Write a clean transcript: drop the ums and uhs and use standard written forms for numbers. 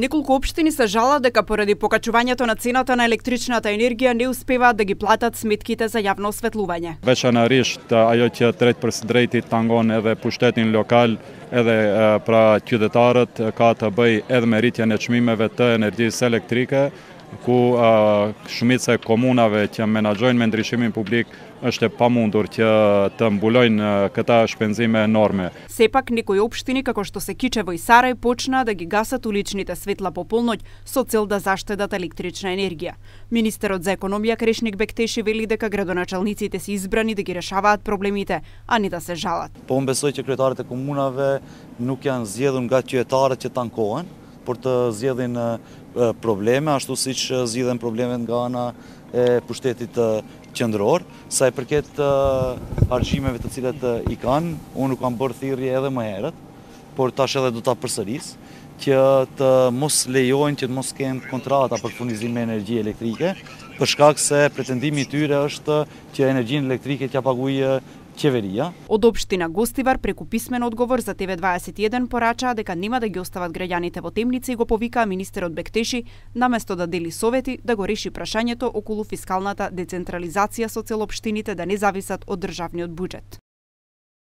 Неколку општини се жалат дека поради покачувањето на цената на електричната енергија не успеваат да ги платат сметките за јавно осветлување. Veçanërisht ajo që drejt për së drejti tangon edhe pushtetin lokal, edhe pra qytetarët ka të bëj edhe me rritjen e çmimeve të energjisë elektrike, ku shumica e komunave që menaxhojnë me ndryshimin publik është e pamundur që të mbulojnë këta shpenzime enorme. Сепак некои општини како што се Кичево и Сарај почнаа да ги гасат уличните светла по полноќ со цел да заштедат електрична енергија. Министерот за економија Крешник Бектеши вели дека градоначалниците се избрани да ги решаваат проблемите, а не да се жалат. Po unë besoj që kryetarët e komunave nuk janë zgjedhur nga qytetarët që tankohen, por të zgjedhin probleme, ashtu siç zgjidhen problemet nga ana e pushtetit qendror. Sa i përket argjimeve të cilat i kanë, unë nuk kam bërë thirrje edhe më herët, por tash edhe do ta përsëris, që të mos lejojnë që të mos kenë kontrata për furnizim me energji elektrike, për shkak se pretendimi i tyre është që energjinë elektrike t'ja paguajë qeveria. Од општина Гостивар преку писмен одговор за TV21 порачаа дека нема да ги остават граѓаните во темница и го повикаа министерот Бектеши наместо да дели совети да го реши прашањето околу фискалната децентрализација со цел општините да не зависат од државниот буџет.